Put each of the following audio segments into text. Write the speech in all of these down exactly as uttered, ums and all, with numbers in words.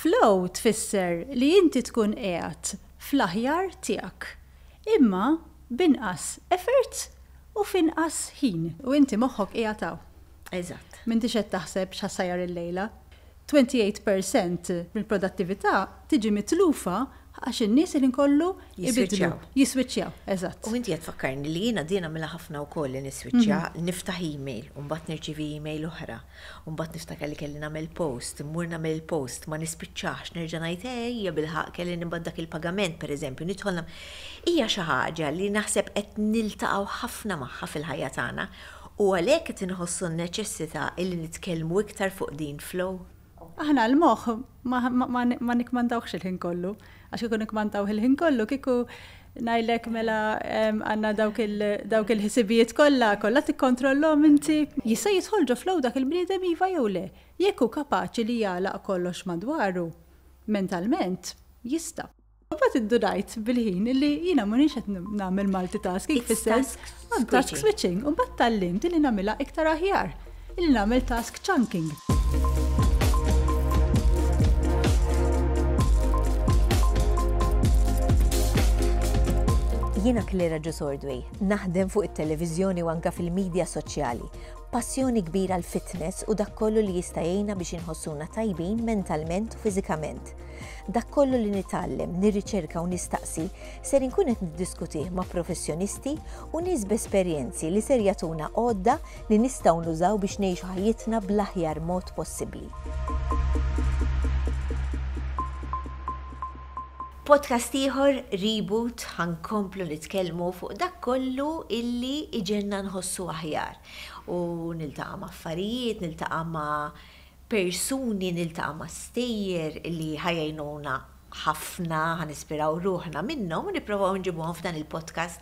Flow tfisser li inti tkun qiegħed fl-aħjar tiegħek. Imma b'inqas effort u f'inqas ħin. U inti moħħok qiegħed hawn. Eżatt. M'intix qed taħseb x'ħa ssajjar illejla. tmintatax fil-mija mill-produttività tiġi mitlufa għax in-nies li nkollu ibidlu. Jiswiċċjaw. Jiswiċċjaw, eżatt. U inti qed tfakkarni li jiena din nagħmilha ħafna wkoll, li niswiċċja, niftaħ email, u mbagħad nirċivi email oħra, u mbagħad niftakar li kelli nagħmel post, immur nagħmel post, ma nispiċċax, nerġa' ngħid ejja bilħaq kelli nibgħat dak il-pagament, pereżempju, nidħol nam- Hija xi ħaġa li naħseb qed niltaqgħu ħafna magħha fil-ħajja tagħna u għalhekk qed inħossu n-neċessità illi nitkellmu iktar fuq din flow. Aħna l-moħħ ma, ma, ma, ma nikmandawx il-ħin kollu. Għax kieku nikmandaw il-ħin kollu, kieku ngħidlek mela em, għandna dawk il- dawk il-ħsibijiet kollha, kollha tikkontrollhom inti. Jista' jidħol ġo flow dak il-bniedem, iva jew le? Jekk hu kapaċi li jagħlaq kollox madwaru, mentalment, jista'. Mbagħad indunajt bil-ħin illi jiena m'iniex qed nagħmel multitasking It's fis-sens task I'm task switching. switching. U mbagħad tgħallimt illi nagħmilha iktar aħjar, illi nagħmel task chunking. Jiena Claire Ordway, naħdem fuq it-televiżjoni u anka fil-medja soċjali. Passjoni kbira l-fitness u dak kollu li jista' jgħinna biex inħossuna tajbin mentalment u fiżikament. Dak kollu li nitgħallem, nirriċerka u nistaqsi ser inkun qed niddiskutih ma' professjonisti u nies b'esperjenzi li ser jagħtuna għodda li nistgħu nużaw biex ngħixu ħajjitna bl-aħjar mod possibbli. Podcast ieħor, Reboot, ħa nkomplu nitkellmu fuq dak kollu illi iġegħelna nħossu aħjar. U niltaqa' ma' affarijiet, niltaqa' ma' persuni, niltaqa' ma' stejjer illi ħa jgħinuna ħafna, ħa nispiraw ruħna minnhom u nipprovaw nġibuhom f'dan il-podcast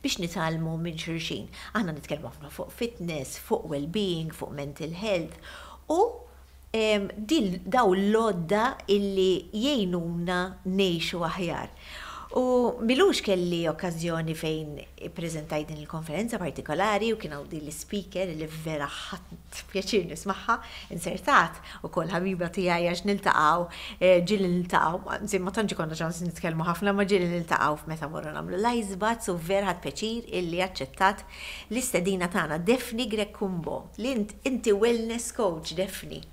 biex nitgħallmu minn xulxin. Aħna nitkellmu ħafna fuq fitness, fuq well-being, fuq mental health u em, dil daw l-għodda illi jgħinuna ngħixu aħjar. U m'ilux kelli okkażjoni fejn prezentajt din il-konferenza partikolari u kien hawn din l-speaker li vera ħadt pjaċir nismagħha, insertat ukoll ħabiba tiegħi għax niltaqgħu, eh, ġieli niltaqgħu, anzi ma tantx konna ċans nitkellmu ħafna, ma ġieli niltaqgħu meta morru nagħmlu l-ice baths u vera ħadt pjaċir illi aċċettat l-istedina tagħna, Daphne Grech Cumbo, li int- inti wellness coach, Daphne.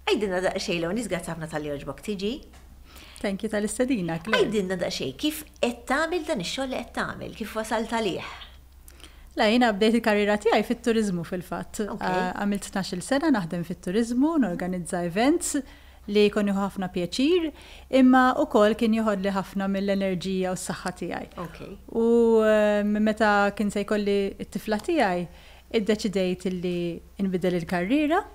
Għidilna daqsxejn l nies, grazzi ħafna talli għoġbok tiġi. Thank you tal-istedina, Claire. Għidilna daqsxejn, kif qed tagħmel dan ix-xogħol li qed tagħmel, kif wasalt għalih? La, jiena bdejt il-karriera tiegħi fit-turizmu fil-fatt. Ok. Ah, Għamilt tnax-il sena naħdem fit-turizmu, norganizza events li kien jieħu ħafna pjaċir, imma ukoll kien joħodli ħafna mill-enerġija u s-saħħa tiegħi. Ok. U eh, meta kien se jkolli t-tifla tiegħi, iddeċidejt illi nbidel il-karriera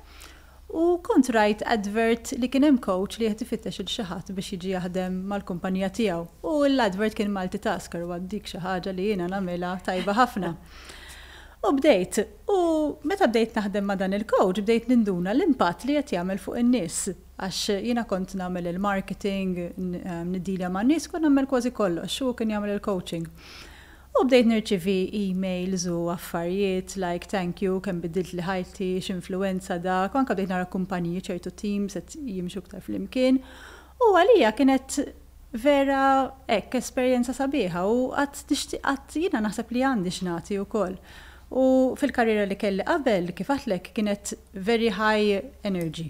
u kont rajt advert li kien hemm coach li qed ifittex il xi ħadd biex jiġi jaħdem mal-kumpanija tiegħu. U l-advert kien multitasker u dik xi ħaġa li jiena nagħmilha tajba ħafna. U bdejt, u meta bdejt naħdem ma' dan il-coach, bdejt ninduna l-impatt li qed jagħmel fuq in-nies. Għax jiena kont nagħmel il-marketing, n- em, niddilja ma' nies, kont nagħmel kważi kollox, u kien jagħmel il-coaching. U bdejt nirċivi emails u affarijiet like "Thank you, kemm biddilt li ħajti, x'influenza dak", u anka bdejt nara kumpaniji, ċertu teams qed jimxu iktar flimkien. U għalija kienet vera hekk esperjenza sabiħa u għad nixtieq, għad jiena naħseb li għandi x'nagħti wkoll. U fil-karriera li kelli qabel, kif għedtlek, kienet very high energy.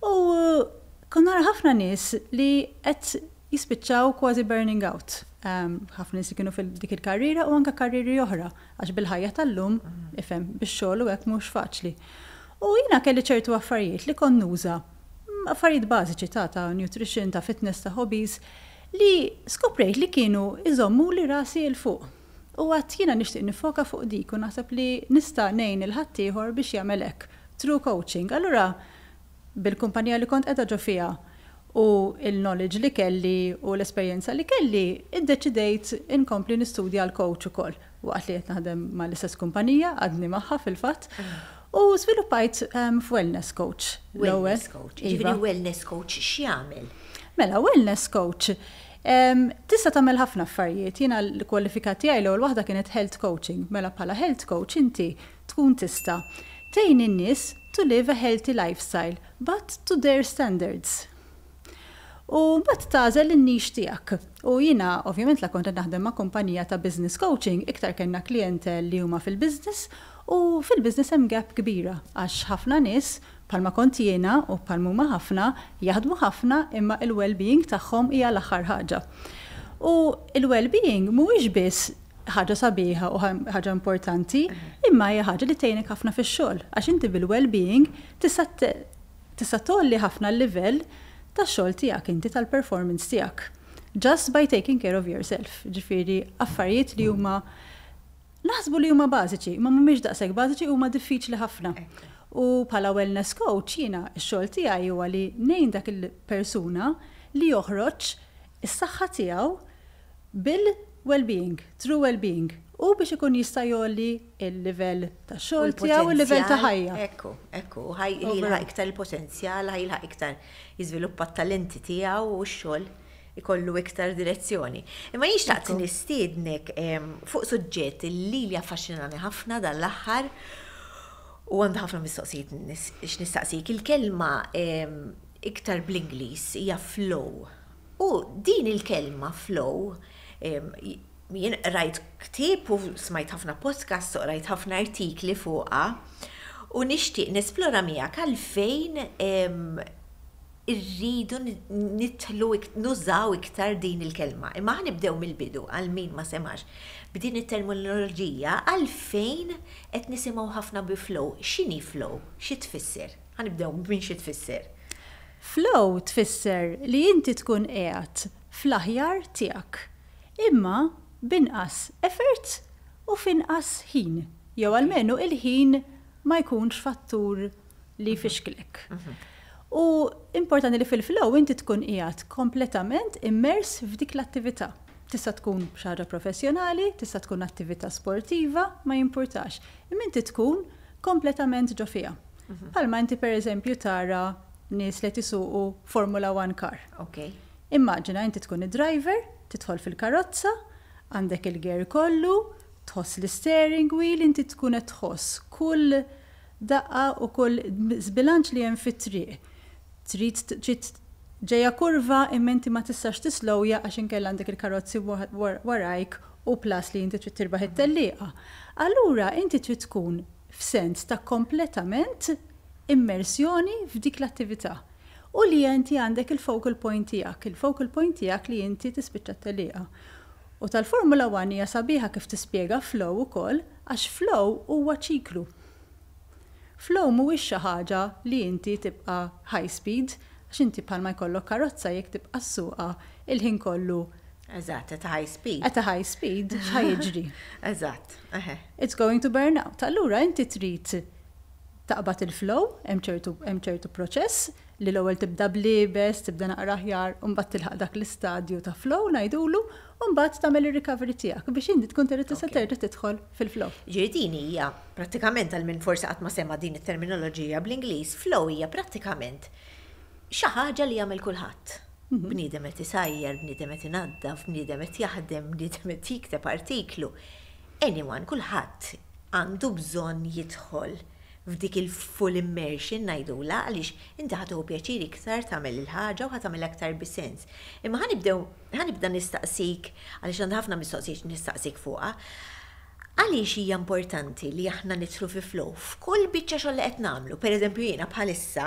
U kont nara ħafna nies li qed jispiċċaw kważi burning out. Um, ħafna nies li kienu fil-dik il-karriera u anka karriri oħra, għax bil-ħajja tal-lum, ifhem, bix-xogħol u hekk mhux faċli. U jiena kelli ċertu affarijiet li kont nuża, mm, affarijiet bażiċi ta' ta' nutrition, ta' fitness, ta' hobbies, li skoprejt li kienu iżommu li rasi 'l fuq. U għedt jiena nixtieq nifoka fuq dik u naħseb li nista' ngħin lil ħaddieħor biex jagħmel hekk through coaching. Allura bil-kumpanija li kont qiegħda ġo fiha u il-knowledge li kelli u l-esperjenza li kelli, iddeċidejt inkompli nistudja l-coach ukoll. Waqt li qed naħdem mal-istess kumpanija, għadni magħha fil-fatt. U sviluppajt um, f'wellness coach l-ewwel. Wellness coach. Iva. Ġifieri wellness coach x'jagħmel? Mela, wellness coach. Um, tista' tagħmel ħafna affarijiet. Jiena l-kwalifika tiegħi l-ewwel waħda kienet health coaching. Mela bħala health coach inti tkun tista' tgħin in-nies to live a healthy lifestyle, but to their standards. U mbagħad tagħżel in-niche tiegħek. U jiena ovvjament la kont naħdem ma' kumpanija ta' business coaching, iktar kellna klientel li huma fil-business, u fil-business hemm gap kbira għax ħafna nies, bħalma kont jiena u bħalma huma ħafna, jaħdmu ħafna imma il-well-being tagħhom hija l-aħħar ħaġa. U il-well-being mhuwiex biss ħaġa sabiħa u ħaġa importanti, imma hija ħaġa li tgħinek ħafna fix-xogħol għax inti bil-well-being tista' tista' tgħolli ħafna l-livell tax-xogħol tiegħek inti, tal-performance tiegħek. Just by taking care of yourself. Ġifieri affarijiet li huma naħsbu li huma bażiċi, ma mhumiex daqshekk bażiċi, huma diffiċli ħafna. U bħala wellness coach jiena x-xogħol tiegħi huwa li ngħin dak il-persuna li joħroġ is-saħħa tiegħu bil-well-being, true well-being, u biex ikun jista' jgħolli il-livell ta' xogħol tiegħu u il-livell ta' ħajja. Ekku, ekku, ħa jilħaq iktar il-potenzjal, ħa jilħaq iktar jiżviluppa t-talenti tiegħu u x-xogħol ikollu iktar direzzjoni. Imma jien xtaqt nistiednek fuq suġġett li li affaxxinani ħafna dan l-aħħar u għandi ħafna mistoqsijiet x'nistaqsik. Il-kelma iktar bl-Ingliż hija flow. U din il-kelma flow, jien rajt ktieb u smajt ħafna podcast u rajt ħafna artikli fuqha u nixtieq nesplora miegħek għalfejn irridu nidħlu nużaw iktar din il-kelma. Imma ħa nibdew mill-bidu għal min ma semax b'din it-terminoloġija, għalfejn qed nisimgħu ħafna bi flow. X'inhi flow? Xi tfisser? Ħa nibdew minn xi tfisser. Flow tfisser li inti tkun qiegħed fl-aħjar tiegħek. Imma b'inqas effort u f'inqas ħin. Jew almenu il-ħin ma jkunx fattur li jfixklek. U importanti li fil-flow inti tkun qiegħed kompletament immers f'dik l-attività. Tista' tkun xi ħaġa professjonali, tista' tkun attività sportiva, ma jimpurtax. Imma inti tkun kompletament ġo fiha. Bħalma inti, per eżempju, tara nies li jsuqu Formula One car. Ok. Immaġina inti tkun id-driver, tidħol fil-karozza, għandek il-gear kollu, tħoss l-steering wheel, inti tkun qed tħoss kull daqqa u kull żbilanċ li hemm fit-triq. Trid trid ġejja kurva imma inti ma tistax tislowja għax inkella għandek il-karozzi warajk u plus li inti trid tirbaħ it-tellieqa. Allura inti trid tkun f'sens ta' kompletament immersjoni f'dik l-attività. U li inti għandek il-focal point tiegħek, il-focal point tiegħek li inti tispiċċa t-tellieqa. U tal-Formula One hija sabiħa kif tispjega flow ukoll, għax flow huwa ċiklu. Flow mhuwiex xi ħaġa li inti tibqa' high speed, għax inti bħalma jkollok karozza, jekk tibqa' ssuqha il-ħin kollu Eżatt, at high speed. At a high speed, x'ħa jiġri? Eżatt, eħe. It's going to burn out. Allura inti trid taqbad il-flow, hemm ċertu hemm ċertu proċess li l-ewwel tibda bl-iebes, tibda naqra aħjar, u mbagħad tilħaq dak l-istadju ta' flow ngħidulu, u mbagħad tagħmel ir-recovery tiegħek biex inti tkun trid tista' terġa' tidħol fil-flow. Ġifieri din hija prattikament, għal min forsi qatt ma sema din it-terminoloġija bl-Ingliż, flow hija prattikament xi ħaġa li jagħmel kulħadd. Mhm. Bniedem qed isajjar, bniedem qed inaddaf, bniedem qed jaħdem, bniedem qed jikteb artiklu. Anyone, kulħadd għandu bżonn jidħol f'dik il-full immersion ngħidula, għaliex inti ħa tieħu pjaċir iktar tagħmel il-ħaġa u ħa tagħmel aktar bis-sens. Imma ħa nibdew ħa nibda nistaqsik, għaliex għandi ħafna mistoqsijiet nistaqsik fuqha. Għaliex hija importanti li aħna nidħlu fi flow f'kull biċċa xogħol li qed nagħmlu? Pereżempju, jiena bħalissa,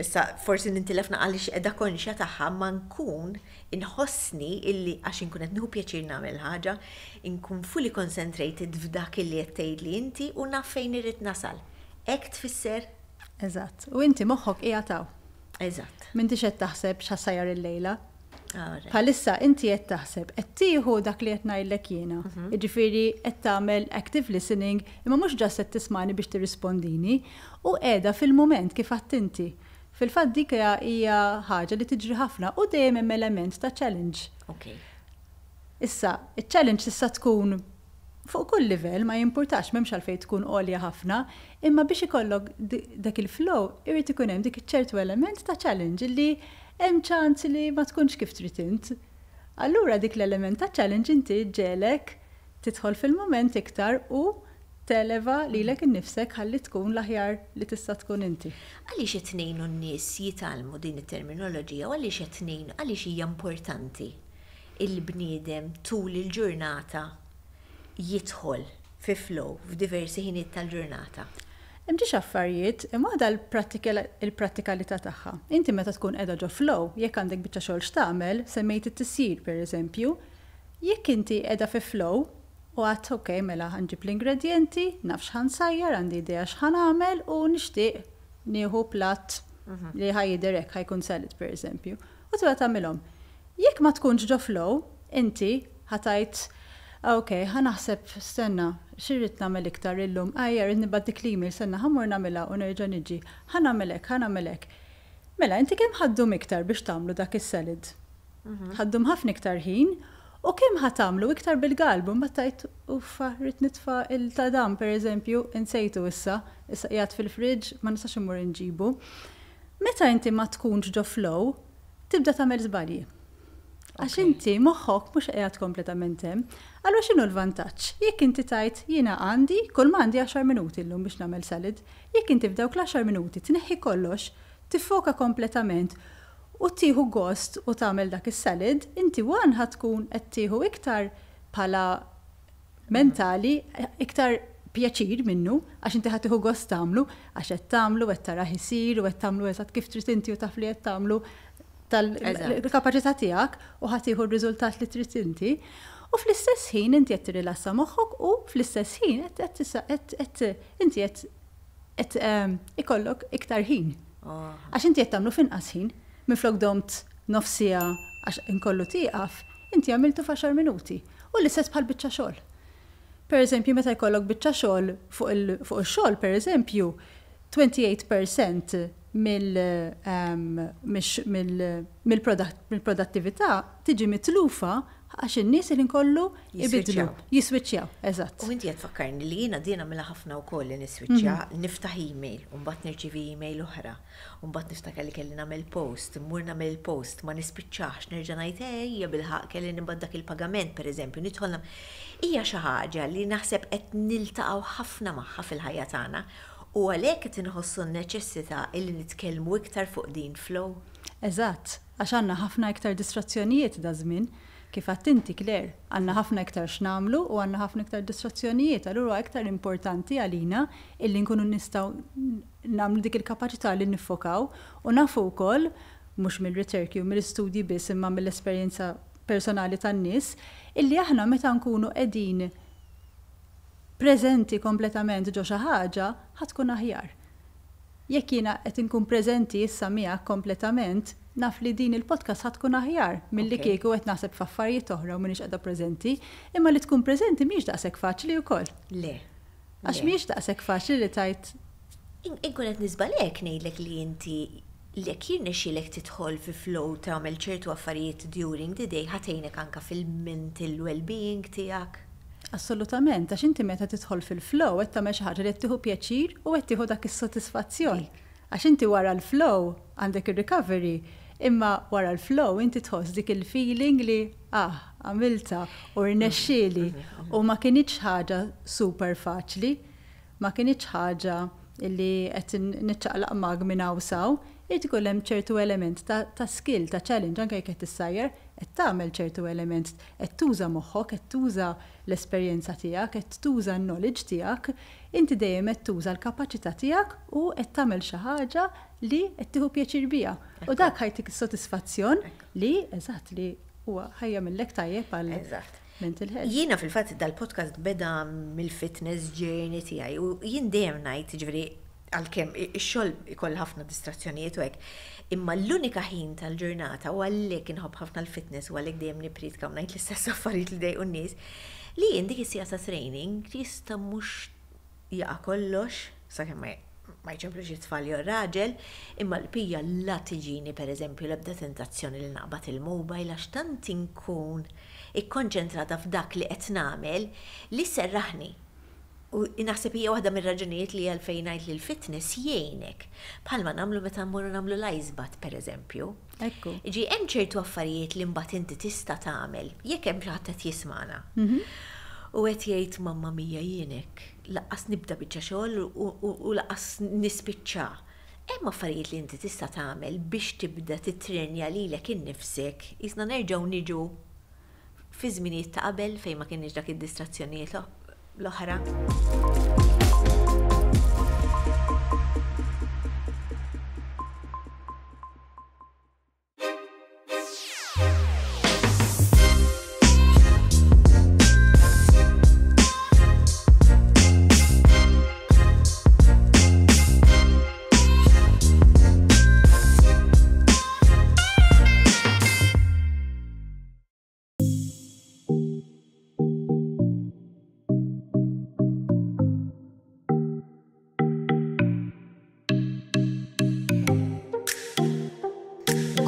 issa forsi nintilef għaliex qiegħda konxja tagħha, ma nkun inħossni illi għax inkun qed nieħu pjaċir nagħmel ħaġa, inkun fully concentrated f'dak illi qed tgħidli inti u naf fejn irrid nasal. Hekk tfisser? Eżatt. U inti moħħok qiegħed hawn. Eżatt. M'intix qed taħseb x'ħa ssajjar il-lejla. Alright. Bħalissa inti qed taħseb, qed tieħu dak li qed ngħidlek jiena. Jiġifieri qed tagħmel active listening, imma mhux just qed tismani biex tirrispondini u qiegħda fil-mument kif għedt inti. Fil-fatt dik hija hija ħaġa li tiġri ħafna u dejjem hemm element ta' challenge. Ok. Issa, il-challenge tista' tkun fuq kull livell, ma jimpurtax, m'hemmx għalfejn tkun għolja ħafna, imma biex ikollok di- dak il-flow, irid ikun hemm dik ċertu element ta' challenge li hemm ċans li ma tkunx kif trid int. Allura dik l-element ta' challenge inti ġġiegħlek tidħol fil-moment iktar u Televa lilek innifsek ħalli tkun l-aħjar li tista' tkun inti. Għaliex qed ngħinu n-nies jitgħallmu din it-terminoloġija u għaliex qed ngħinu, għaliex hija importanti il-bniedem tul il-ġurnata jidħol fi flow f'diversi ħiniet tal-ġurnata? Hemm ġiex affarijiet, imma waħda il-prattikalità tagħha. Inti meta tkun qiegħda ġo flow, jekk għandek biċċa xogħol x'tagħmel, semmejt it-tisjir, pereżempju, jekk inti qiegħda fi flow u għedt, "Ok, mela ħa nġib l-ingredienti, naf x'ħa nsajjar, għandi idea x'ħa nagħmel u nixtieq nieħu platt li ħa jidher hekk, ħa jkun salad, pereżempju." U tibda tagħmilhom. Jekk ma tkunx ġo flow, inti ħa tgħid, "Ok, ħa naħseb, stenna, x'irrid nagħmel iktar illum? Ajja, rrid nibgħat dik l-email, stenna, ħa mmur nagħmilha u nerġa' niġi. Ħa nagħmel hekk, ħa nagħmel hekk." Mela, inti kemm ħa ddum iktar biex tagħmlu dak is-salad? Ħa ddum ħafna iktar ħin u kemm ħa tagħmlu iktar bil-galbu, mbagħad tgħid, "Uffa, rrid nitfa' il-tadam, pereżempju, insejtu issa, issa qiegħed fil-fridge, ma nistax immur inġibu." Meta inti ma tkunx ġo flow, tibda tagħmel żbalji. Għax inti moħħok mhux qiegħed kompletament hemm. Allura x'inhu l-vantaġġ? Jekk inti tgħid, "Jiena għandi, kull ma għandi għaxar minuti llum biex nagħmel salad", jekk inti f'dawk l-għaxar minuti tneħħi kollox, tiffoka kompletament u tieħu gost u tagħmel dak is-salad, inti one ħa tkun qed tieħu iktar bħala mentali, iktar pjaċir minnu, għax inti ħa tieħu gost tagħmlu, għax qed tagħmlu, qed tarah isir u qed tagħmlu eżatt kif trid inti u taf li qed tagħmlu tal-kapaċità tiegħek u ħa tieħu r-riżultat li trid inti. U fl-istess ħin inti qed tirrilassa moħħok u fl-istess ħin qed inti qed qed ehm, ikollok iktar ħin. Oh. Għax inti qed tagħmlu f'inqas ħin, minflok domt nofs siegħa għax inkollu tieqaf, inti għamiltu f'għaxar minuti. U l-istess bħal biċċa xogħol. Per eżempju, meta jkollok biċċa xogħol fuq il-xogħol, per eżempju, twenty-eight percent mill-produttività tiġi mitlufa għax in-nies li nkollu ibidlu. Jiswiċċjaw, eżatt. U inti qed tfakkarni li jiena din nagħmilha ħafna wkoll, li niswiċċja, mhm. niftaħ email, u mbagħad nirċivi email oħra, u mbagħad niftakar li kelli nagħmel post, mmur nagħmel post, ma nispiċċax, nerġa' ngħid, "Ejja, bilħaqq kelli nibgħat dak il-pagament", pereżempju, nidħol. Hija xi ħaġa li naħseb qed niltaqgħu ħafna magħha fil-ħajja tagħna u għalhekk qed inħossu n-neċessità illi nitkellmu iktar fuq din flow. Eżatt, għax għandna ħafna iktar distrazzjonijiet da żmien. Kif għedt inti, Claire, għandna ħafna iktar x'nagħmlu u għandna ħafna iktar distrazzjonijiet, allura iktar importanti għalina illi nkunu nistgħu nagħmlu dik il-kapaċità li niffokaw. U nafu wkoll, mhux mill-riċerki u mill-istudji biss imma mill-esperjenza personali tan-nies, illi aħna meta nkunu qegħdin preżenti kompletament ġo xi ħaġa, ħa tkun aħjar. Jekk jiena qed inkun preżenti issa miegħek kompletament, naf li din il-podcast ħa tkun aħjar milli kieku qed naħseb f'affarijiet oħra u m'iniex qiegħda preżenti, imma li tkun preżenti mhix daqshekk faċli wkoll. Le. Għax mhix daqshekk faċli li tgħid Inkun qed niżbalek ngħidlek li inti lek jirnexxilek tidħol fi flow, tagħmel ċertu affarijiet during the day, ħa tgħinek anka fil-mental well-being tiegħek. Assolutament, għax inti meta tidħol fil-flow qed tagħmel xi ħaġa li qed tieħu pjaċir u qed tieħu dak is-sodisfazzjon. Għax inti wara l-flow għandek ir-recovery, imma wara l-flow inti tħoss dik il-feeling li, "Ah, għamilta u rnexxieli", u ma kinitx ħaġa super faċli, ma kinitx ħaġa illi qed niċċaqlaq mag minn hawn s'hawn, irid ikun hemm ċertu element ta', ta skill, ta' challenge, anke jekk qed tissajjar, qed tagħmel ċertu element, qed tuża moħħok, qed tuża l-esperjenza tiegħek, qed tuża l-knowledge tiegħek, inti dejjem qed tuża l-kapaċità tiegħek u qed tagħmel xi ħaġa li qed tieħu pjaċir biha. U dak ħa jtik is-sodisfazzjon li eżatt li huwa ħa jagħmillek tajjeb għal Eżatt. mental health. Jiena fil-fatt dal-podcast beda mill-fitness journey tiegħi u jien dejjem ngħid, ġifieri għalkemm ix-xogħol ikoll ħafna distrazzjonijiet u hekk, imma l-unika ħin tal-ġurnata, u għalhekk inħobb ħafna l-fitness u għalhekk dejjem nippriedka u ngħid l-istess affarijiet li dejqu n-nies, li jien dik is-siegħa ta' training jista' mhux jaqa' kollox, sakemm ma ma jċemplux it-tfal jew raġel, imma l-pija la tiġini, pereżempju, l-ebda tentazzjoni li naqbad il-mobile, għax tant inkun ikkonċentrata f'dak li qed nagħmel li serraħni. U naħseb hija waħda mir-raġunijiet li għalfejn ngħid li l-fitness jgħinek. Bħalma nagħmlu meta mmorru nagħmlu l-ice bath, pereżempju. Ekku. Ġi hemm ċertu affarijiet li mbagħad inti tista' tagħmel jekk hemm xi ħadd qed jismagħna. U qed jgħid, "Mamma mia, jienek, lanqas nibda biċċa xogħol u lanqas nispiċċa." Hemm affarijiet li inti tista' tagħmel biex tibda titrenja lilek innifsek, jisna nerġgħu niġu fi żminijiet ta' qabel fejn ma kienx dak id-distrazzjonijiet l-oħra?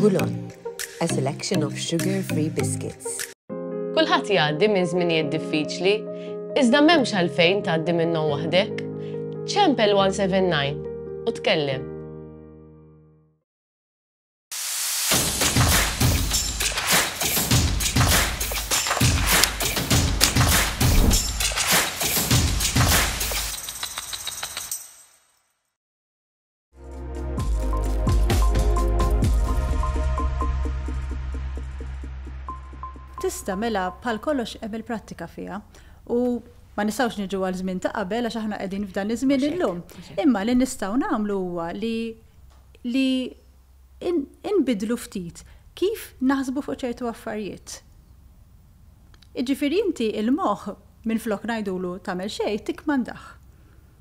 Gulot, a selection of sugar-free biscuits. Kulħadd jgħaddi minn żminijiet diffiċli, iżda m'hemmx għalfejn tgħaddi minnhom waħdek. Ċempel one seven nine u tkellem. Tista', mela, bħal kollox hemm il-prattika fiha. U ma nistgħux niġu għal żmien ta' qabel għax aħna qegħdin f'dan iż-żmien illum. Imma li nistgħu nagħmlu huwa li li inbidlu ftit kif naħsbu fuq ċertu affarijiet. Iġifieri inti il-moħħ, minn flok ngħidulu tagħmel xejn, tikkmandah.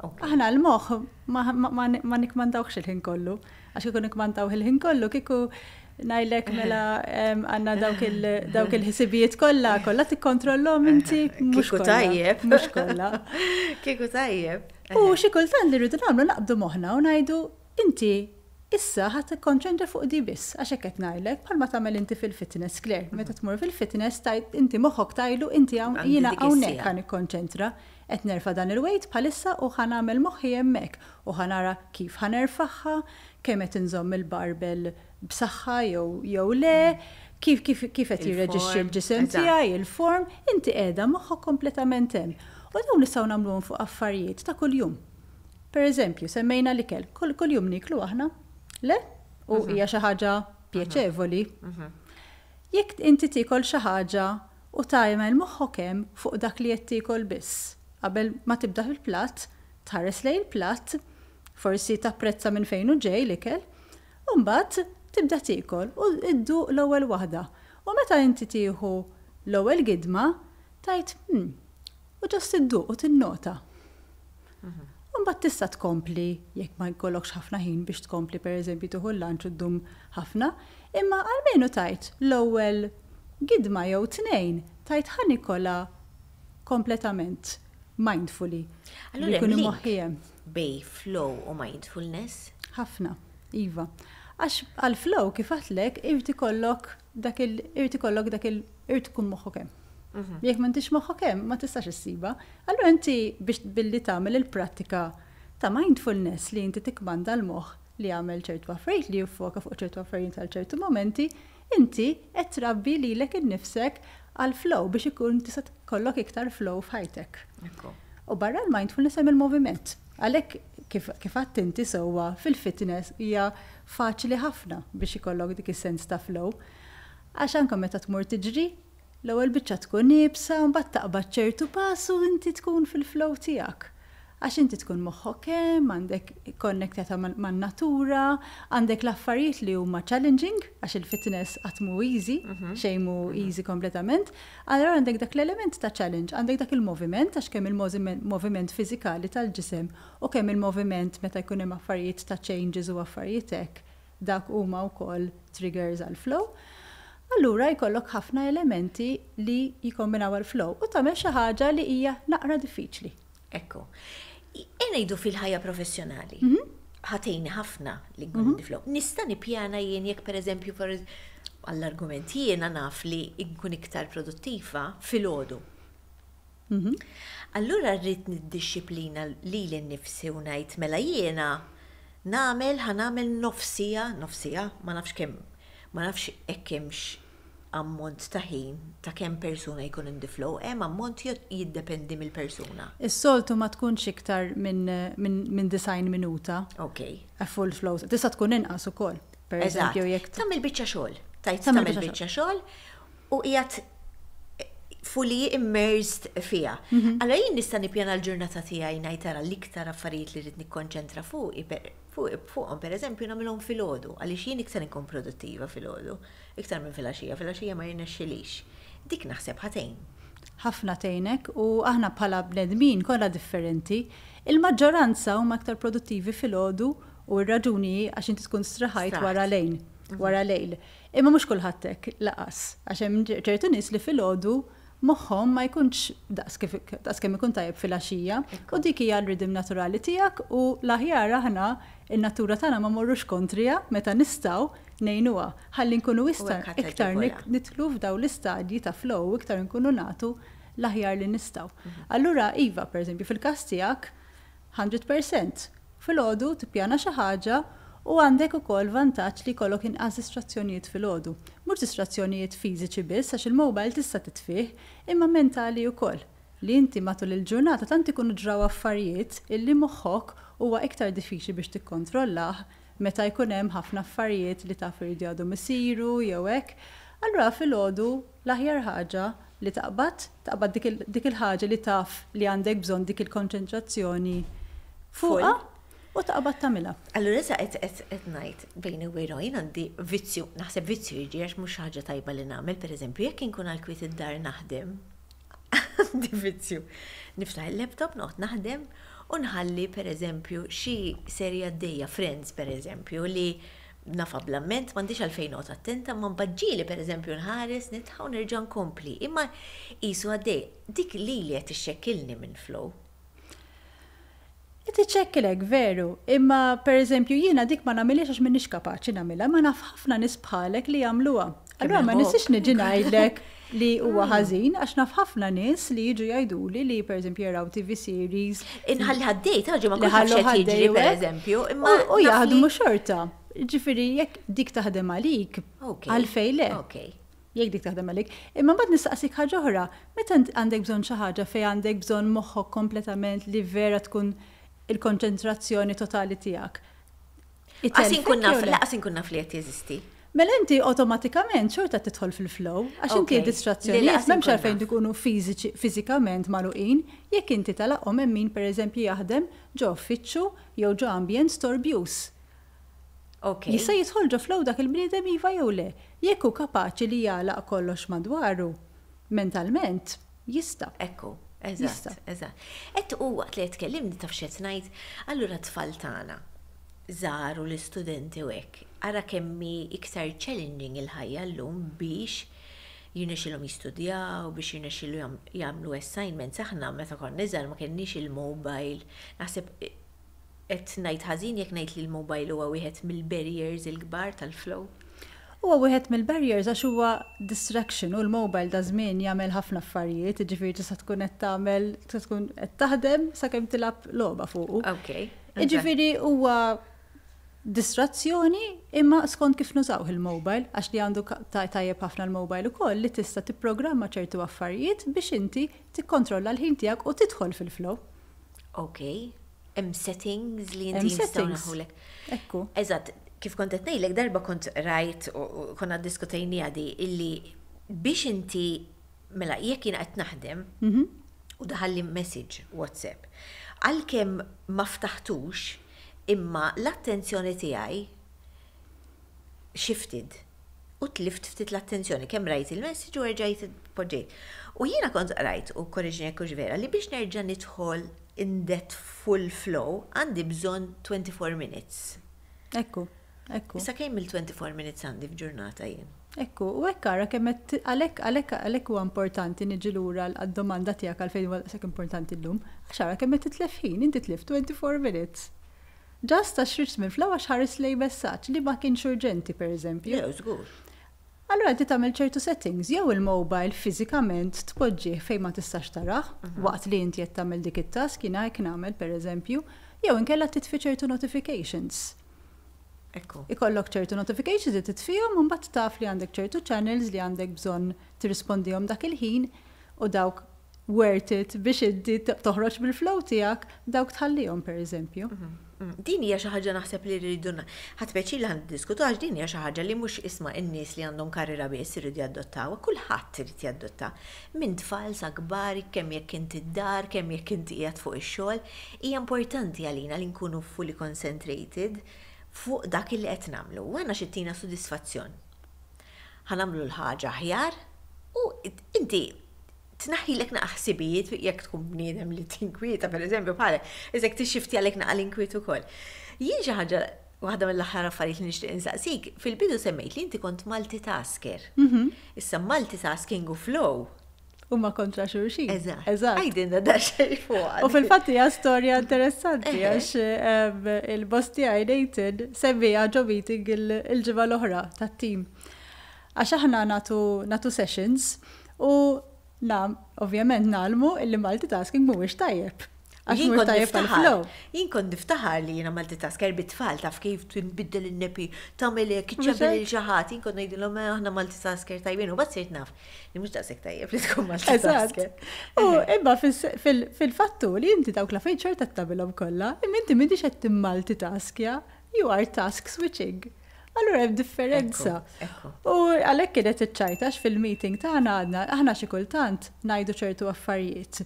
Aħna l-moħħ ma, ma, ma, ma nikkmandawx il-ħin kollu. Għax kieku nikkmandaw il-ħin kollu, kieku ngħidlek mela għandna dawk il-ħsibijiet kollha, kollha tikkontrollhom inti, mhux Kieku tajjeb. Mhux kollha. Kieku tajjeb. U xi kultant li rridu nagħmlu, naqbdu moħħna u ngħidu, "Inti issa ħa tikkonċentra fuq di biss," għax hekk qed ngħidlek, bħalma tagħmel inti fil-fitness, Claire. Meta tmur fil-fitness tajt inti moħħok tgħidlu, "Inti jiena hawnhekk ħa nikkonċentra, qed nerfa' dan il-weight bħalissa u ħa nagħmel moħħi hemmhekk u ħa nara kif ħa nerfagħha, kemm qed inżomm il-barbell b'saħħa jew jew le, kif kif kif qed jirreġixxi l-ġisem tiegħi, il-form," inti qiegħda moħħok kompletament hemm. U dawn nistgħu nagħmluhom fuq affarijiet ta' kuljum. Per eżempju, semmejna l-ikel, kull kuljum niklu aħna? Le? U mhm. hija xi ħaġa pjaċevoli. Mhm. Jekk inti tiekol xi ħaġa u tagħmel moħħok hemm fuq dak li qed tiekol biss, qabel ma tibda fil-platt, tħares lejn il-platt, forsi tapprezza minn fejn hu ġej l-ikel, u mbagħad tibda tiekol u idduq l-ewwel waħda. U meta inti tieħu l-ewwel gidma, tgħid, hmm, u just idduq u tinnota. Mhm. U mbagħad tista' tkompli jekk ma jkollokx ħafna ħin biex tkompli, pereżempju tieħu l-lunch u ddum ħafna, imma almenu tgħid l-ewwel gidma jew tnejn tgħid, "Ħa nikolha kompletament mindfully." Allura jkun moħħi bejn flow u mindfulness? Ħafna, iva. Għax għal flow, kif għedtlek, irid ikollok dak il irid ikollok dak il irid tkun moħħok hemm. Mhm. Jekk m'intix moħħok hemm, ma tistax issiba. Allura inti biex billi tagħmel il-prattika ta' mindfulness li inti tikkmanda l-moħħ li jagħmel ċertu affarijiet, li jiffoka fuq ċertu affarijiet għal ċertu momenti, inti qed trabbi lilek innifsek għal flow biex ikun tista' tkollok iktar flow f'ħajtek. U barra l-mindfulness hemm il-moviment. Għalhekk kif, kif għedt inti sewwa, fil-fitness hija faċli ħafna biex ikollok dik is-sens ta' flow. Għax anke meta tmur tiġri, l-ewwel biċċa tkun iebsa, mbagħad taqbad ċertu pass u inti tkun fil-flow tiegħek. Għax inti tkun moħħok hemm, għandek konnektata man-natura, għandek l-affarijiet li huma challenging, għax il-fitness qatt mhu easy, mhm. xejn mhu easy kompletament. Allora għandek dak l-element ta' challenge, għandek dak il-moviment, għax kemm il-moviment fiżikali tal-ġisem u kemm il-moviment meta jkun hemm affarijiet ta' changes u affarijiet hekk, dak huma wkoll triggers għal flow. Allura jkollok ħafna elementi li jikombinaw għal flow u tagħmel xi ħaġa li hija naqra diffiċli. Ekku. Ngħidu fil-ħajja professjonali. Mhm. Ħa tgħinni ħafna li nkun mm flow. Nista' nippjana jien jekk, pereżempju, għall-argument, jiena naf li nkun iktar produttiva filgħodu. Mhm. Allura rrid niddixxiplina lili nnifsi u ngħid, mela jiena nagħmel ħa nagħmel nofs siegħa, nofs siegħa, ma nafx kemm, ma nafx hekk hemmx ammont ta' ħin ta' kemm persuna jkun in the flow, hemm ammont jiddependi mill-persuna? Is-soltu ma tkunx iktar minn min, min disgħin minuta. Ok. A full flow. Tista' tkun inqas ukoll. Per eżempju, jekk tagħmel biċċa xogħol. Tajt tagħmel biċċa xogħol u qiegħed fully immersed fiha. Mhm. Allora jien nista' nippjana l-ġurnata tiegħi, ngħid tara l-iktar affarijiet li rrid nikkonċentra fuq fuqhom, pereżempju, nagħmilhom filgħodu, għaliex jien iktar inkun produttiva filgħodu, iktar minn filgħaxija, filgħaxija ma jirnexxilix. Dik naħseb ħa tgħin. Ħafna tgħinek, u aħna bħala bnedmin kollha differenti. Il-maġġoranza huma aktar produttivi filgħodu u r-raġuni għax inti tkun straħajt wara lejn, mhm. wara lejl. Imma mhux kulħadd hekk lanqas, għax hemm ċertu nies li filgħodu moħħhom ma jkunx daqs kemm ikun tajjeb filgħaxija, u dik hija l-ritm naturali tiegħek u l-aħjar aħna in-natura tagħna ma morrux kontrija meta nistgħu ngħinuha ħalli nkunu iktar nidħlu f'daw l-istadji ta' flow, iktar nkunu nagħtu l-aħjar li nistgħu. Mhm. Allura iva, pereżempju, fil-każ tiegħek mija fil-mija filgħodu tippjana xi ħaġa u għandek ukoll vantaġġ li jkollok inqas distrazzjonijiet filgħodu. Mhux distrazzjonijiet fiżiċi biss, għax il-mobile tista' titfih, imma mentali wkoll. Li inti matul il-ġurnata tant ikunu ġraw affarijiet illi moħħok huwa iktar diffiċli biex tikkontrollah meta jkun hemm ħafna affarijiet li taf iridu għadhom isiru jew hekk. Allura filgħodu l-aħjar ħaġa li taqbad, taqbad dik il-ħaġa li taf li għandek bżonn dik il-konċentrazzjoni fuqha u taqbad tagħmilha. Allura issa qed qed ngħid bejni u bejn jien għandi vizzju, naħseb vizzju jiġi għax mhux ħaġa tajba li nagħmel, pereżempju, jekk inkun għal kwiet id-dar naħdem, għandi vizzju. Niftaħ il-laptop, noqgħod naħdem u nħalli, pereżempju, xi serja għaddejja, Friends pereżempju, li nafha bl-amment, m'għandix għalfejn noqgħod attenta, ma mbaġġili, pereżempju, nħares, nidħak u nerġa' nkompli. Imma qisu għaddej, dik li li qed ixxekkilni minn flow. Tiċċekkilek veru, imma per eżempju jiena dik ma nagħmilhiex għax m'iniex kapaċi nagħmilha, ma naf ħafna nies bħalek li jagħmluha. Allura ma nistax niġi ngħidlek li huwa ħażin, għax naf ħafna nies li jiġu jgħiduli li pereżempju jaraw T V series. Inħalli għaddej, taġi ma nkunx jiġri pereżempju, imma u jaħdmu xorta. Ġifieri jekk dik taħdem għalik, għalfejn le? Jekk dik taħdem għalik. Imma mbagħad nistaqsik ħaġa oħra, meta għandek bżonn xi ħaġa fejn għandek bżonn moħħok kompletament li vera tkun il-konċentrazzjoni totali tiegħek. Għax inkun naf, lanqas inkun naf li qed jeżisti. Mela inti automatikament xorta tidħol fil-flow, għax inti distrazzjonijiet m'hemmx għalfejn tkunu fiżikament magħluqin, jekk inti tagħlaqhom. Hemm min, pereżempju, jaħdem ġo uffiċċju jew ġo ambjent storbjuż. Jista' jidħol ġo flow dak il-bniedem, iva jew le? Jekk hu kapaċi li jagħlaq kollox madwaru mentalment, jista'. Ekku. Eżatt, eżatt. Et u waqt li tkellimni, taf x'qed ngħid, allura tfal tagħna żgħar u l-istudenti u hekk, ara kemm hi iktar challenging il-ħajja llum biex jirnexxilhom jistudjaw, biex jirnexxilhom jagħmlu assignments. Aħna meta konna żgħar ma kenniex il-mobile. Naħseb qed ngħid ħażin jekk ngħid li l-mobile huwa wieħed mill-barriers il-kbar tal-flow? Huwa wieħed mill-barriers għax huwa distraction u l-mobile da żmien jagħmel ħafna affarijiet, jiġifieri tista' tkun qed tagħmel, tista' tkun qed taħdem sakemm tilgħab logħba fuqu. Ok. Jiġifieri huwa distrazzjoni, imma skont kif nużaw il-mobile, għax li għandu tajjeb ħafna l-mobile ukoll li tista' tipprogramma ċertu affarijiet biex inti tikkontrolla l-ħin tiegħek u tidħol fil-flow. Ok. Hemm settings li inti nistgħu naħulek. Ekku. Eżatt, kif kont qed ngħidlek, darba kont rajt u konna ddiskutejna di illi biex inti, mela jekk jiena qed naħdem mhm. u daħalli message WhatsApp, għalkemm ma ftaħtux, imma l-attenzjoni tiegħi shifted u tlift ftit l-attenzjoni kemm rajt il-message u rġajt poġġejt. U jiena kont rajt, u korreġini jekk vera, li biex nerġa' nidħol in that full flow għandi bżonn twenty-four minutes. Ekku, ekku. Issa kemm il-twenty-four minutes għandi f'ġurnata jien? Ekku, u hekk ara kemm għalhekk għalhekk għalhekk huwa importanti niġi lura għad-domanda tiegħek għalfejn huwa daqshekk importanti llum, għax ara kemm qed titlef ħin, inti tlift twenty-four minutes. Just għax ħriġt minn flow għax ħares lej messaġġ li ma kienx urġenti, pereżempju. Le, żgur. Allura inti tagħmel ċertu settings, jew il-mobile fiżikament tpoġġih fejn ma tistax tarah mhm. waqt li inti qed tagħmel dik it-task, jiena hekk nagħmel pereżempju, jew inkella titfi ċertu notifications. Ekku. Ikollok ċertu notifications li titfihom u mbagħad taf li għandek ċertu channels li għandek bżonn tirrispondihom dak il-ħin u dawk worth it biex inti toħroġ bil-flow tiegħek, dawk tħallihom, per eżempju. Mm, Din hija xi ħaġa naħseb li rridu ħadt pjaċir li ħa niddiskutu, għax din hija xi ħaġa li mhux, isma', in-nies li għandhom karriera biss iridu jadottaw, kulħadd irid jadotta. Minn tfal sa kbar, kemm jekk inti d-dar, kemm jekk inti qiegħed fuq ix-xogħol, hija importanti għalina li nkunu fully concentrated fuq dak li qed nagħmlu. U għandna xi ttina sodisfazzjon. Ħa nagħmlu l-ħaġa aħjar u inti tnaħħilek naqa ħsibijiet jekk tkun bniedem li tinkwieta, per eżempju, bħalek, iżek tixxifti għalek naqa l-inkwiet ukoll. Jien xi ħaġa, waħda mill-aħħar affarijiet li nixtieq insaqsik, fil-bidu semmejt li inti kont multitasker. Issa multitasking u flow. Huma kontra xulxin. Eżatt. Eżatt. Għidilna daqsxejn fuq. U fil-fatt hija storja interessanti Eħe. għax em, il-boss tiegħi Nathan semmiha ġo meeting il- il-ġimgħa l-oħra tat-team. Għax aħna nagħtu nagħtu sessions u nam, ovvjament ngħallmu illi multitasking mhuwiex tajjeb. Għax Jien mhuwiex kont tajjeb niftaħar, għal-flow. jien kont niftaħar li jiena multitasker bit-tfal, taf kif tinbiddel in-nappy, tagħmel hekk, Mhux iċċempel hekk? lil xi ħadd, jien kont ngħidilhom, "Eh, aħna multitasker tajbin", u bad sirt naf li mhux daqshekk tajjeb li tkun Eżatt. multitasker. U imma fis- fil- fil-fattu li inti dawk l-affarijiet xorta tagħmilhom kollha, imma inti m'intix qed timmultitaskja, you are task switching. Allura hemm differenza. Ekku, ekku. U għalhekk kienet iċ-ċajta fil-meeting tagħna, għadna aħna xi kultant ngħidu ċertu affarijiet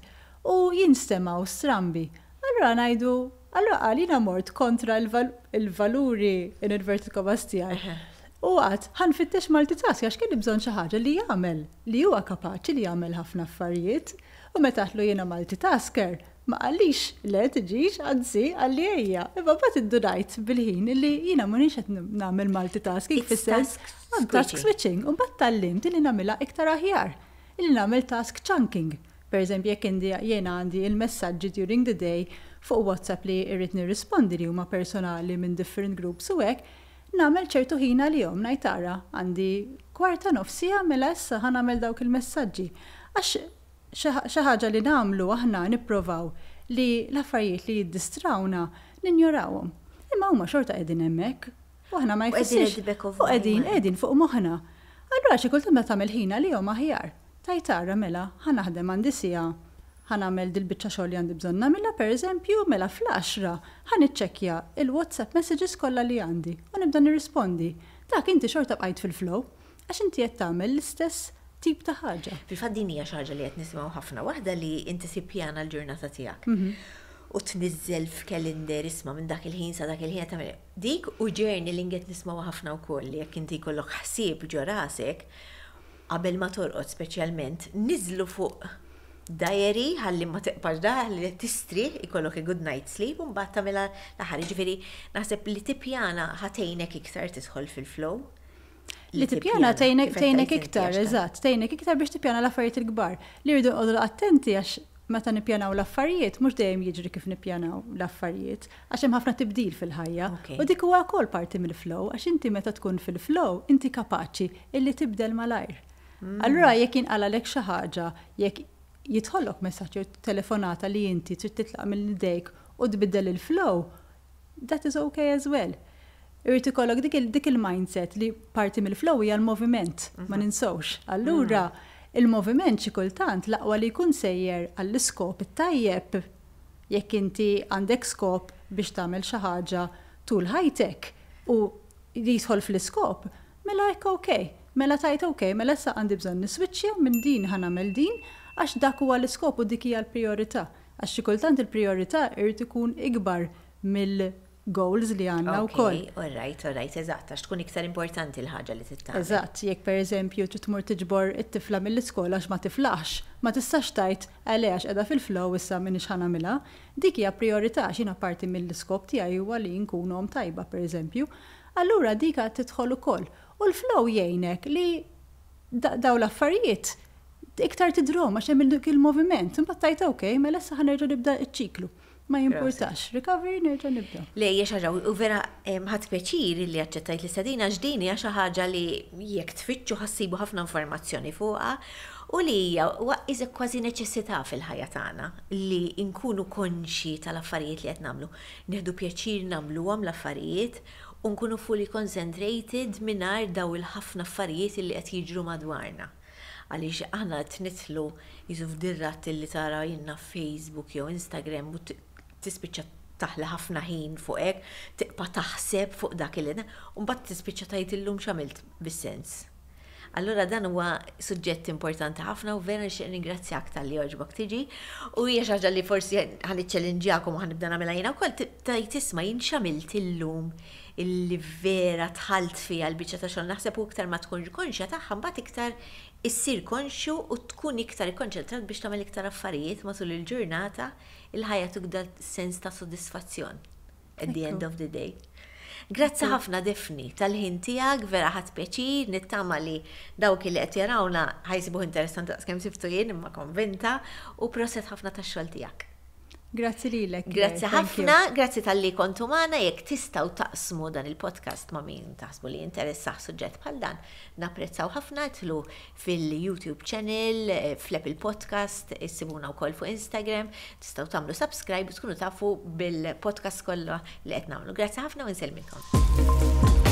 u jinstemgħu strambi. Allura ngħidu, allura qal jiena mort kontra il-val- il-valuri in inverted commas tiegħi. U għedt, ħa nfittex multitask għax kien bżonn xi ħaġa li jagħmel, li huwa kapaċi li jagħmel ħafna affarijiet. U meta għedtlu jiena multitasker, ma qalix le tiġix, anzi qalli ejja. Imma mbagħad indunajt bil-ħin li jiena m'iniex qed nagħmel multitasking It's fis-sens task I'm task switching. switching. U mbagħad tgħallimt li nagħmilha iktar aħjar. Illi nagħmel task chunking. Per eżempju, jekk indi jiena għandi il-messaġġi during the day fuq WhatsApp li irrid nirrispondi li huma personali minn different groups u hekk, nagħmel ċertu ħin għalihom, ngħid tara għandi kwarta, nofs siegħa, mela issa ħa nagħmel dawk il-messaġġi. Għax xi ħaġa li nagħmlu aħna nipprovaw li l-affarijiet li jiddistrawna ninjorawhom. Imma huma xorta qegħdin hemmhekk. U aħna ma U qegħdin jfissirx. at the back of U qegħdin mind. qegħdin fuq moħħna. Allura xi kultant meta tagħmel ħin għalihom aħjar. Tgħid tara, mela ħa naħdem, għandi siegħa, ħa nagħmel dil-biċċa xogħol li għandi bżonn nagħmilha, pereżempju, mela fl-għaxra ħa niċċekkja il-WhatsApp messages kollha li għandi u nibda nirrispondi. Dak inti xorta bqajt fil-flow għax inti qed tagħmel l-istess tip ta' ħaġa. Fil-fatt din hija xi ħaġa li qed nisimgħu ħafna, waħda li inti tippjana l-ġurnata tiegħek. U tniżżel f'kalendar, isma', minn dak il-ħin sa dak il-ħin tagħmel dik, u journaling qed nisimgħu ħafna wkoll li jekk inti jkollok ħsieb ġo rasek qabel ma torqod speċjalment, niżlu fuq diary ħalli ma teqpax da, ħalli tistrieħ, ikollok a good night sleep u mbagħad tagħmilha l-aħħar. Ġifieri naħseb li tippjana ħa tgħinek iktar tidħol fil-flow. Li tippjana tgħinek kif qed tgħinek tgħid inti, iktar, għax ta' eżatt, tgħinek iktar biex tippjana l-affarijiet il-kbar. Li rridu nqogħdu attenti għax meta nippjanaw l-affarijiet mhux dejjem jiġri kif nippjanaw l-affarijiet, għax hemm ħafna tibdil fil-ħajja. Ok. U dik huwa wkoll parti mill-flow, għax inti meta tkun fil-flow inti kapaċi illi tibdel malajr. Allura jekk jinqalalek xi ħaġa, jekk jidħollok messaġġ jew telefonata li inti trid titlaq mill-idejk u tbiddel il-flow, that is okay as well. Irrid ikollok dik il- dik il-mindset li parti mill-flow hija l-moviment, ma ninsewx. Allura, il-moviment xi kultant l-aqwa li jkun sejjer għall-iskop it-tajjeb, jekk inti għandek skop biex tagħmel xi ħaġa tul ħajtek u li jidħol fl-iskop, mela hekk okay. Mela tgħid okay, mela issa għandi bżonn niswiċċja minn din ħa nagħmel din għax dak huwa l-iskop u dik hija l-priorità. Għax xi kultant il-priorità irid ikun ikbar mill-goals li għandna wkoll. Ok, all right, all right, eżatt, għax tkun iktar importanti l-ħaġa li tittamel. Eżatt, jekk per eżempju trid tmur tiġbor it-tifla mill-iskola għax ma tiflax, ma tistax tgħid għalih għax qiegħda fil-flow issa m'iniex ħa nagħmilha. Dik hija priorità għax jiena parti mill-iskop tiegħi huwa li nkun omm tajba, per eżempju. Allura dika tidħol ukoll. U l-flow jgħinek li da- daw l-affarijiet iktar tidrom għax hemm dik il-moviment. Imbagħad tgħid okay, mela issa ħa nerġa' nibda ċ-ċiklu. Ma jimpurtax, recovery, nerġa' nibda. Le, hija xi ħaġa, u vera em, ħadt pjaċir li aċċettajt l-istedina għax din hija xi ħaġa li jekk tfittxu ħa ssibu ħafna informazzjoni fuqha u li hija wa- iżek kważi neċessità fil-ħajja tagħna li nkunu konxi tal-affarijiet li qed nagħmlu. Nieħdu pjaċir nagħmluhom l-affarijiet u nkunu fully concentrated mingħajr daw il-ħafna affarijiet li qed jiġru madwarna. Għaliex aħna qed nidħlu jisu f'dir-rat li tara jiena Facebook jew Instagram u tispiċċa taħli ħafna ħin fuq hekk, tibqa' taħseb fuq dak il u mbagħad tispiċċa tgħid illum x'għamilt bis-sens. Allura dan huwa suġġett importanti ħafna u vera nixtieq ningrazzjak talli għoġbok tiġi u hija xi ħaġa li forsi ħa niċċellinġjakom u ħa nibda nagħmilha jiena wkoll, tgħid, "Isma', jien x'għamilt illum illi vera dħalt fiha l-biċċa ta' xogħol?" Naħseb u iktar ma tkunx konxja tagħha, mbagħad iktar issir konxju u tkun iktar ikkonċentrat biex tagħmel iktar affarijiet matul il-ġurnata, il-ħajja ttik sens ta' sodisfazzjon at the end of the day. Grazzi ħafna, Daphne, tal-ħin tiegħek, vera ħadt pjaċir, nittama li dawk li qed jarawna ħa jsibuh interessanti daqs kemm sibtu jien, imma konvinta, u proset ħafna tax-xogħol tiegħek. Grazzi lilek. Grazzi ħafna, grazzi talli kontu magħna. Jekk tistgħu taqsmu dan il-podcast ma' min taħsbu li interessah suġġett bħal dan, napprezzaw ħafna. Idħlu fil-YouTube channel, eh, fl-Apple Podcast, issibuna wkoll fuq Instagram, tistgħu tagħmlu subscribe u tkunu tafu bil-podcast kollha li qed nagħmlu. Grazzi ħafna u nsellmilkom.